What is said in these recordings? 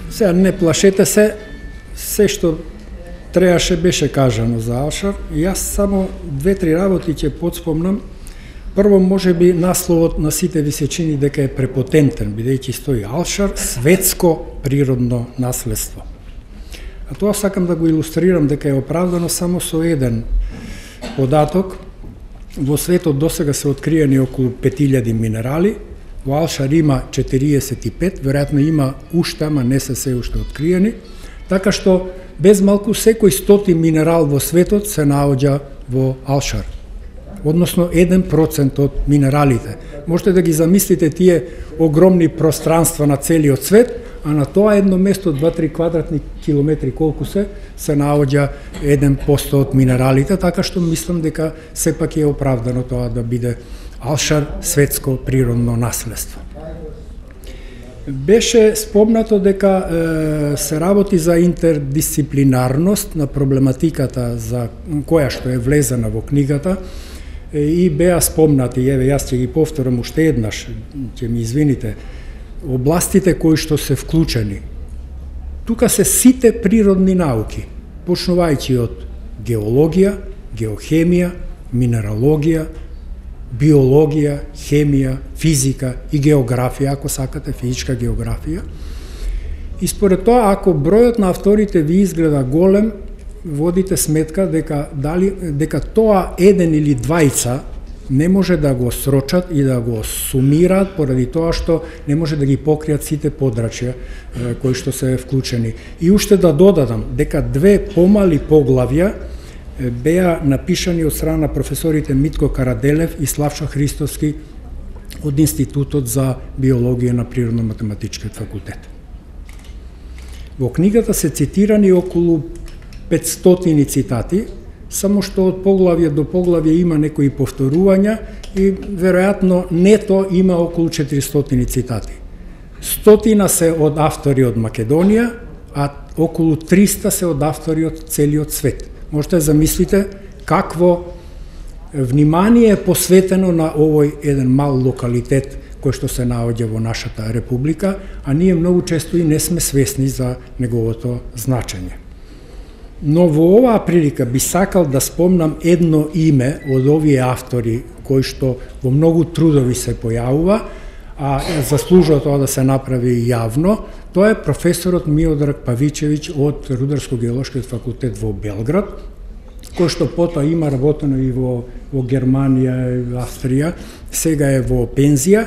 Сега не плашете се што требаше беше кажано за Алшар. Јас само 2-3 работи ќе подспомнам. Прво, може би насловот на сите ви се чини дека е препотентен, бидејќи стои Алшар, светско природно наследство. А тоа сакам да го илустрирам дека е оправдано само со еден податок. Во светот досега се откриени околу 5000 минерали, во Алшар има 45, веројатно има уште, ама не се уште откриени, така што без малку секој 100 минерал во светот се наоѓа во Алшар. Односно 1% од минералите. Можете да ги замислите тие огромни пространства на целиот свет, а на тоа едно место 2-3 квадратни километри колку се наоѓа 1% од минералите, така што мислам дека сепак е оправдано тоа да биде Алшар светско природно наследство. Беше спомнато дека се работи за интердисциплинарност на проблематиката за која што е влезена во книгата и беа спомнати, еве јас ќе ги повторам уште еднаш, ќе ми извините, областите кои што се вклучени. Тука се сите природни науки, почнувајќи од геологија, геохемија, минералогија, биологија, хемија, физика и географија, ако сакате физичка географија. И според тоа, ако бројот на авторите ви изгледа голем, водите сметка дека тоа еден или двајца не може да го срочат и да го сумираат поради тоа што не може да ги покријат сите подрачја кои што се вклучени. И уште да додадам дека 2 помали поглавја беа напишани од страна на професорите Митко Караделев и Славчо Христовски од Институтот за биологија на Природно-математичкиот факултет. Во книгата се цитирани околу 500 цитати, само што од поглавје до поглавје има некои повторувања и веројатно нето има околу 400 цитати. 100 се од автори од Македонија, а околу 300 се од автори од целиот свет. Можете да замислите какво внимание е посветено на овој еден мал локалитет кој што се наоѓа во нашата република, а ние многу често и не сме свесни за неговото значење. Но во оваа прилика би сакал да спомнам едно име од овие автори кои што во многу трудови се појавува, а заслужува тоа да се направи јавно. Тоа е професорот Миодраг Павичевиќ од Рударско-геолошкиот факултет во Белград, кој што потоа има работено и во Германија и Австрија, сега е во пензија.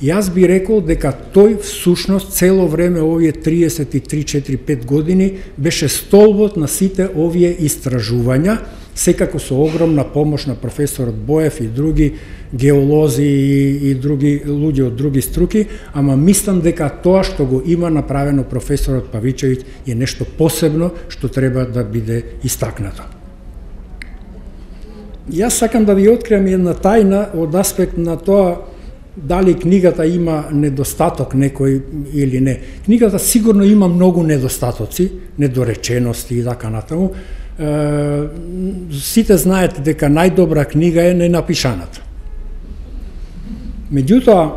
Јас би рекол дека тој всушност цело време овие 33-4-5 години беше столбот на сите овие истражувања, секако со огромна помош на професорот Боев и други геолози и други луѓе од други струки, ама мислам дека тоа што го има направено професорот Павичевиќ е нешто посебно што треба да биде истакнато. Јас сакам да ви откриам една тајна од аспект на тоа дали книгата има недостаток некој или не. Книгата сигурно има многу недостатоци, недоречености и така натаму. Сите знаете дека најдобра книга е ненапишаната. Меѓутоа,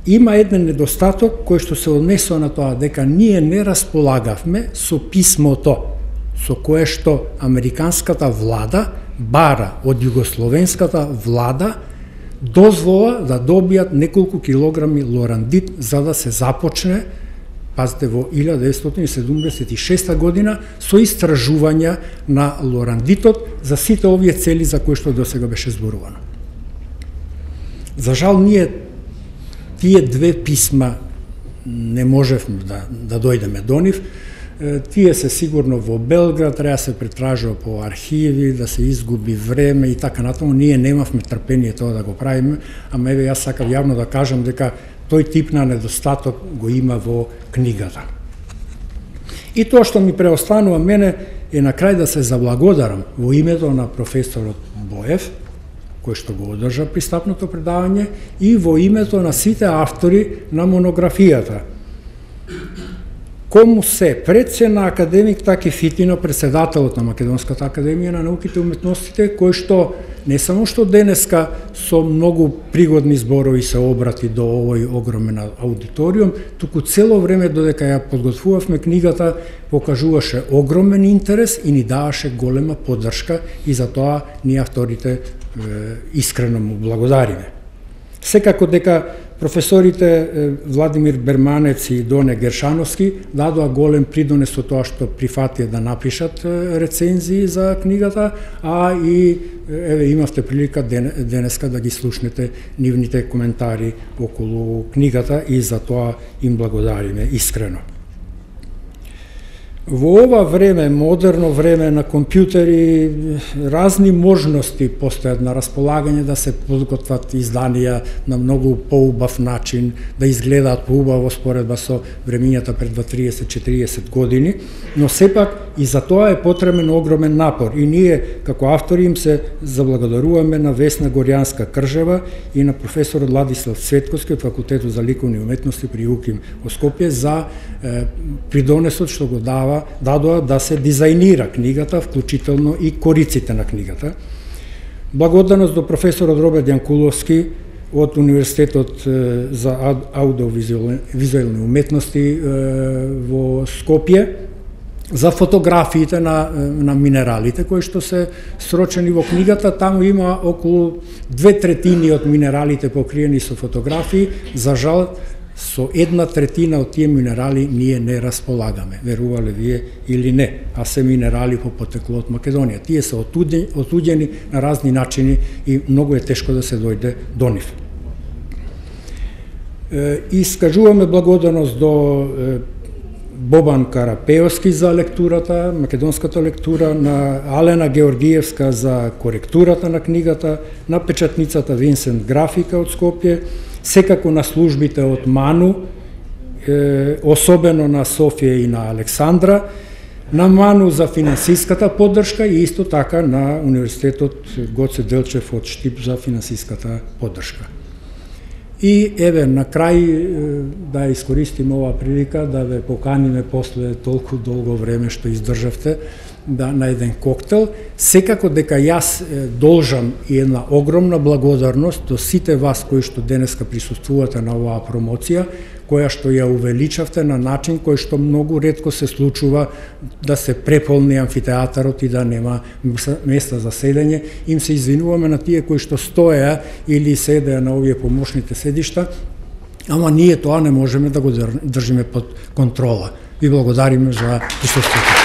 има еден недостаток кој што се однесува на тоа дека ние не располагавме со писмото со кое што американската влада бара од југословенската влада дозвола да добијат неколку килограми лорандит за да се започне, пазите, во 1976 година со истражувања на лорандитот за сите овие цели за кои што досега беше зборувано. За жал, ние тие 2 писма не можевме да дојдеме до нив. Тие се сигурно во Белград, треба се претражува по архиви, да се изгуби време и така натаму. Ние немавме трпение тоа да го правиме, ама еве јас сакам јавно да кажам дека тој тип на недостаток го има во книгата. И тоа што ми преостанува мене е на крај да се заблагодарам во името на професорот Боев, кој што го одржа пристапното предавање, и во името на сите автори на монографијата. кому се, пред се на академик Таки Фитино, председателот на Македонската академија на науките и уметностите, кој што не само што денеска со многу пригодни зборови се обрати до овој огромен аудиториум, туку цело време додека ја подготвувавме книгата, покажуваше огромен интерес и ни даваше голема поддршка и за тоа ние авторите искрено му благодариме. Секако дека професорите Владимир Берманец и Доне Гершановски дадоа голем придонес со тоа што прифатија да напишат рецензии за книгата, а и имавте прилика денеска да ги слушнете нивните коментари околу книгата и за тоа им благодариме искрено. Во ова време, модерно време на компјутери, разни можности постојат на располагање да се подготват изданија на многу поубав начин, да изгледаат поубаво споредба со времињата пред 30-40 години, но сепак и за тоа е потребен огромен напор и ние како автори им се заблагодаруваме на Весна Горјанска-Кржева и на професорот Владислав Цветковски од Факултетот за ликовни уметности при УКИМ во Скопје за придонесот што го дадоа да се дизајнира книгата, вклучително и кориците на книгата. Благодарност до професорот Роберт Јанкуловски од Универзитетот за аудиовизуелни уметности во Скопје за фотографиите на минералите кои што се срочени во книгата. Таму има околу 2/3 од минералите покриени со фотографии. За жал, со 1/3 од тие минерали ние не располагаме, верувале вие или не, а се минерали по потекло од Македонија. Тие се отуѓени на разни начини и многу е тешко да се дојде до нив. Искажуваме благодарност до Бобан Карапеовски за лектурата, македонската лектура, на Алена Георгиевска за коректурата на книгата, на печатницата Винсент Графика од Скопје, секако на службите од МАНУ, особено на Софија и на Александра, на МАНУ за финансиската поддршка и исто така на Универзитетот Гоце Делчев од Штип за финансиската поддршка. И еве на крај да искористим ова прилика да ве поканиме после толку долго време што издржавте на еден коктел. Секако дека јас должам и една огромна благодарност до сите вас кои што денеска присуствувате на оваа промоција, која што ја увеличавте на начин кој што многу ретко се случува да се преполни амфитеатарот и да нема места за седење. Им се извинуваме на тие кои што стоеа или седеа на овие помошните седишта, ама ние тоа не можеме да го држиме под контрола. Ви благодариме за присуствието.